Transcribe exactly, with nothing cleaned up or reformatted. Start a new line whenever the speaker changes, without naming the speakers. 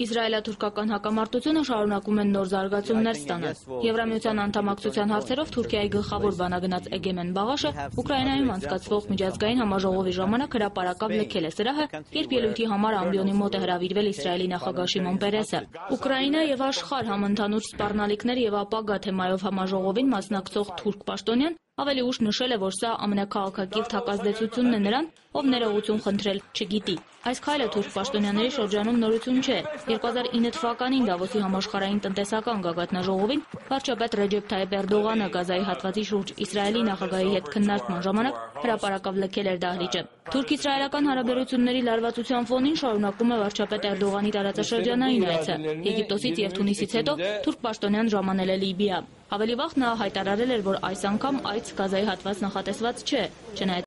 Իսրայելա-թուրքական հակամարտությունը շարունակում են նոր զարգացումներ ստանալ։ Եվրամիության անդամակցության հարցերով Թուրքիայի գլխավոր բանագնաց Էգեմեն Բաղաշը Ուկրաինայում անցկացվող միջազգային համաժողովի ժամանակ հրապարակավ լքել է սրահը, երբ ելույթի համար ամբիոնի մոտ է հրավիրվել Իսրայելի նախագահ Շիմոն Պերեսը։ Ուկրաինա եւ աշխարհ համընդհանուր սպառնալիքներ եւ ապագա թեմայով համաժողովին մասնակցող թուրք պաշտոնյան ավելի ուշ նշել է, որ սա ամենաքաղաքակիրթ հակազդեցությունն է նրան, ով ներողություն խնդրել չգիտի։ Այս քայլը թուրք պաշտոնյաների շրջանում նորություն չէ։ երկու հազար ինը թվականին Դավոսի համաշխարհային տնտեսական գագաթնաժողովին վարչապետ Ռեջեփ Թայիփ Էրդողանը Գազայի հատվածի շուրջ Իսրայելի նախագահի հետ քննարկման ժամանակ հրապարակավ լքել էր դահլիճը։ Թուրք-իսրայելական հարաբերությունների լարվածության ֆոնին շարունակում է վարչապետ Էրդողանի տարածաշրջանային այցը։ Եգիպտոսից եւ Թունիսից հետո թուրք պաշտոնյան ժամանել է Լիբիա։ Ավելի վաղ նա հայտարարել էր, որ այս անգամ այց Գազայի հատված նախատեսված չէ, չնայած